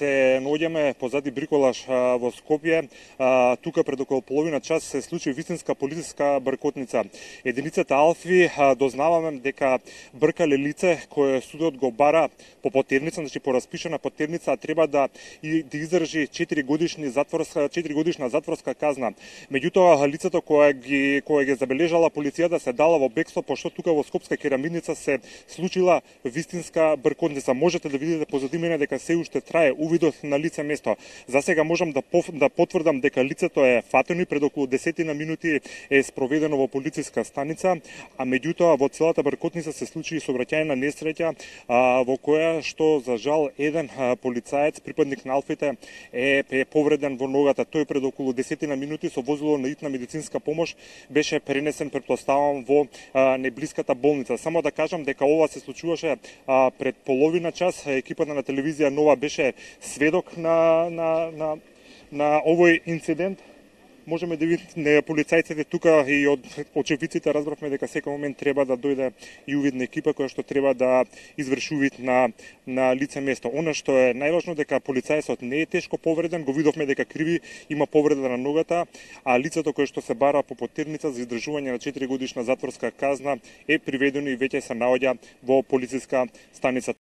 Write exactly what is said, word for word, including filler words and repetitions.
се наоѓаме позади бриколаш во Скопје. Тука пред околу половина час се случи вистинска полициска бркотница. Единицата Алфи дознаваме дека бркале лице кое судот го бара по потерница, значи по распишана потерница, треба да и да издржи четири годишни затворска четири годишна затворска казна. Меѓутоа лицето кое ги кое ги забележала полицијата се дала во бегство, пошто тука во Скопска керамидница се случила вистинска бркотница. Можете да видите позади мене дека се уште трае увидот на лице место. За сега можам да пов, да потврдам дека лицето е фатено и пред околу десетина минути е спроведено во полициска станица, а меѓутоа во целата бркотница се случи и сообраќајна несреќа а, во која што за жал еден а, полицаец, припадник на Алфите, е, е повреден во ногата. Тој пред околу десетина минути со возило на итна медицинска помош беше пренесен, претпоставам, во а, неблиската болница. Само да кажам дека ова се случуваше а, пред половина час. Екипата на телевизија Нова беше сведок на на на на овој инцидент. Можеме да видиме полицајците тука и од очевидците разбравме дека секој момент треба да дојде и увидна екипа која што треба да изврши увид на на лице место. Она што е најважно дека полицајецот не е тешко повреден, го видовме дека криви, има повреда на ногата, а лицето кое што се бара по потерница за издржување на четири годишна затворска казна е приведено и веќе се наоѓа во полициска станица.